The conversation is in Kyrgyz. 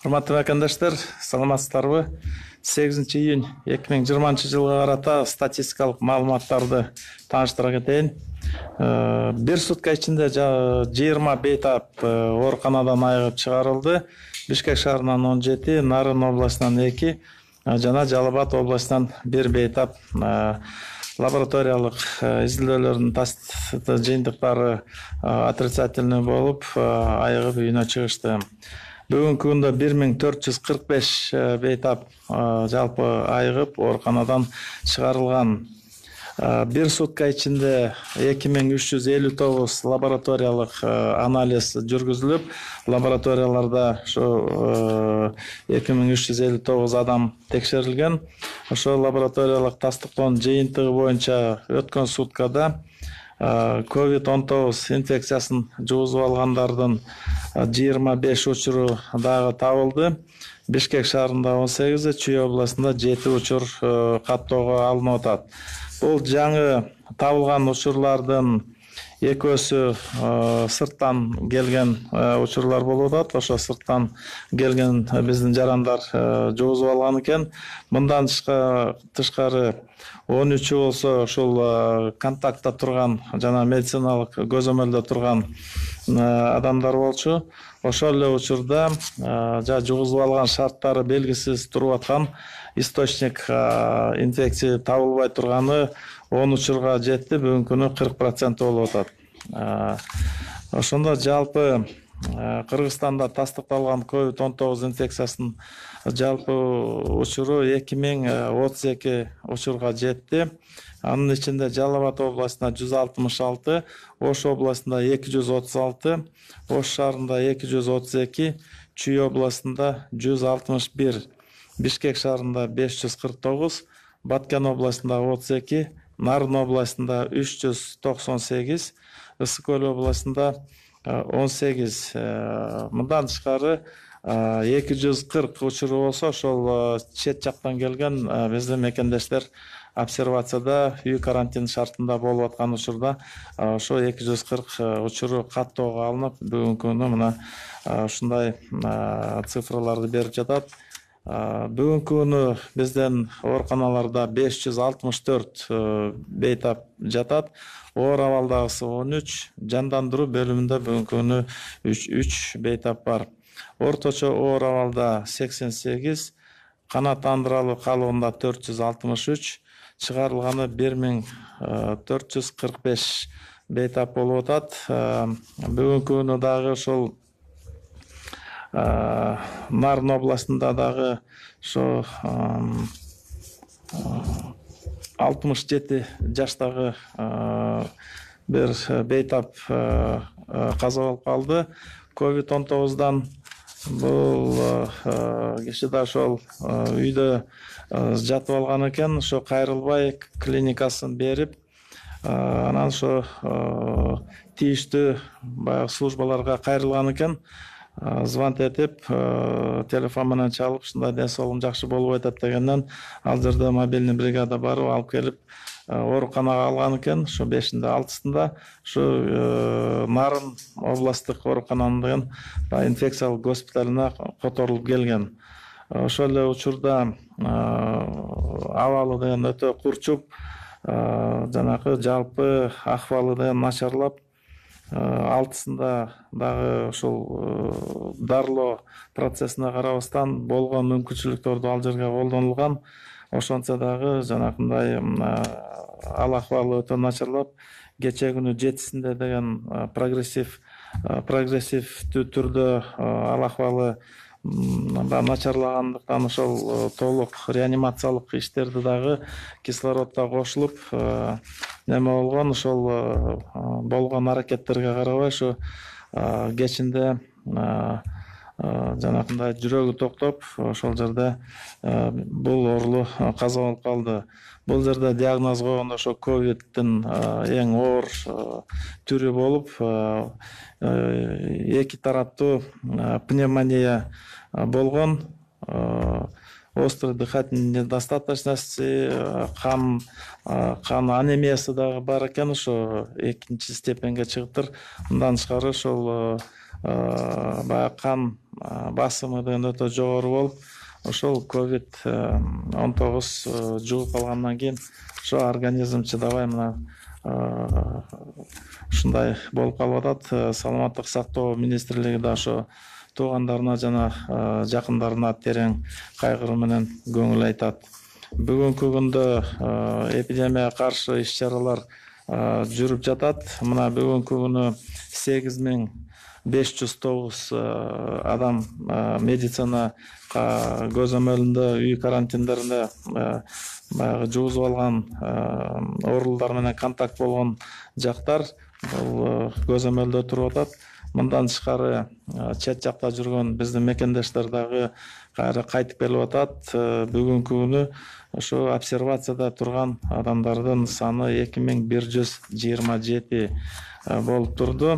Урматтуу мекендаштар, саламатсыздарбы? 8-июнь 2020-жылга карата статистикалык маалыматтарды тааныштыра кетейин. Бир сутка ичинде 20 бейтап ооруканадан айыгып чыгарылды. Бишкек шаарынан 17, Нарын областынан 2 жана Жалал-Абад областынан 1 бейтап лабораториялык изилдөөлөрдүн жыйынтыктары отрицательный болуп, айыгып үйүнө чыгышты. Бүгүнкү күндө 1445 бейтап жалпы айыгып ооруканадан чыгарылган. Бир сутка ичинде 2359 лабораториялык анализ жүргүзүлүп, лабораторияларда ошо 2359 адам текшерилген. Ошол лабораториялык тастыктоонун жыйынтыгы боюнча өткөн суткада COVID-19 инфекциясын жугузуп алгандардын 25 учуру дагы табылды. Бишкек шаарында 18, Чүй областында 7 учур каттоого алынып атат. Бул жаңы табылган учурлардын экөөсү сырттан келген учурлар болуп атат. Ошо сырттан келген биздин жарандар жугузуп алган экен. Мындан тышкары 13 болсо ошол контактта турган жана медициналык көзөмөлдө турган адамдар болчу. Ошол эле учурда жугузуп алган шарттары белгисиз туруп аткан источник инфекция табылбай турганы 10 учурга жетти. Бүгүнкү күнү 40% болуп атат. Ошондо жалпы Кыргызстанда тастыкталган COVID-19 инфекциясынын жалпы учуру 2032 учурга жетти. Анын ичинде Жалал-Абад областында 166, Ош областында 236, Ош шаарында 232, Чүй областында 161, Бишкек шаарында 549, Баткен областында 32, Нарын областында 398, Ысык Көл областында 18. Мындан тышкары 240 учуру болсо, ошол чет жактан келген биздин мекендештер обсервацияда үй карантин шартында болуп аткан учурда ошо 240 учуру каттоого алынып, бүгүнкү күнү мына ушундай цифрларды берип жатат. Бүгүнкү күнү биздин ооруканаларда 564 бейтап жатат. Оор абалдагысы 13, жандандыруу бөлүмүндө бүгүнкү күнү 3 бейтап бар. Орточо оор абалда 88, канааттандыралуу калыбында 463, чыгарылганы 1445 бейтап болуп атат. Бүгүнкү күнү дагы ошол Нарын областында дагы ошо 67 жаштагы бир бейтап каза болуп калды. COVID-19-дан бул киши да ошол үйдө жатып алган экен. Ошо кайрылбай клиникасын берип, анан ошо тийиштүү баягы службаларга кайрылган экен. Звонок этип, телефон менен чалып, ушундай ден соолугум жакшы болуп атат дегенден, ал жерде мобильный бригада барып алып келип, ооруканага алган экен. Ошо 5-inde 6-сында ушу Нарын областтык оорукананын инфекциялык госпиталына которулуп келген. Ошол эле учурда абалы деген өтө курчуп, жанагы жалпы акыбалы деген начарлап, 6-сында дагы ошол дарылоо процессине карабастан болгон мүмкүнчүлүктөрдү ал жерге колдонулган. Ошончо дагы жанакындай ал акыбалы өтө начарлап, кечээ күнү 7-синде деген прогрессивдүү түрдө ал акыбалы начарлагандыктан ошол толук реанимациялык иштерди дагы кислороддо кошулуп неме болгон. Ошол болгон аракеттерге карабай ушу кечинде жанакындай жүрөгү токтоп, ошол жерде бул оорулуу каза болуп калды. Бул жерде диагноз койгондо ошо ковиддин эң оор түрү болуп, 2 тараптуу пневмония болгон. Острый дыхательный недостаточности, кан анемиясы дагы бар экен. Ошо 2-степенге чыгыптыр. Мындан тышкары ошол баягы кан басымыдын өтө жогору болуп, ошол COVID-19 жугуп алгандан кийин ошо организм чыдабай мына ушундай болуп калып атат. Саламаттык сактоо министрлиги да ошо туугандарына жана жакындарына терең кайгыруу менен көңүл айтат. Бүгүнкү күндө эпидемияга каршы иш-чаралар жүрүп жатат. Мына бүгүнкү күнү 8509 адам медицина көзөмөлүндө үй карантиндеринде баягы жугузуп алган оорулар менен контакт болгон жактар бул көзөмөлдө туруп атат. Мындан тышкары чет жакта жүргөн биздин мекендештер дагы кайра кайтып келип атат. Бүгүнкү күнү ошо обсервацияда турган адамдардын саны 2127 болуп турду.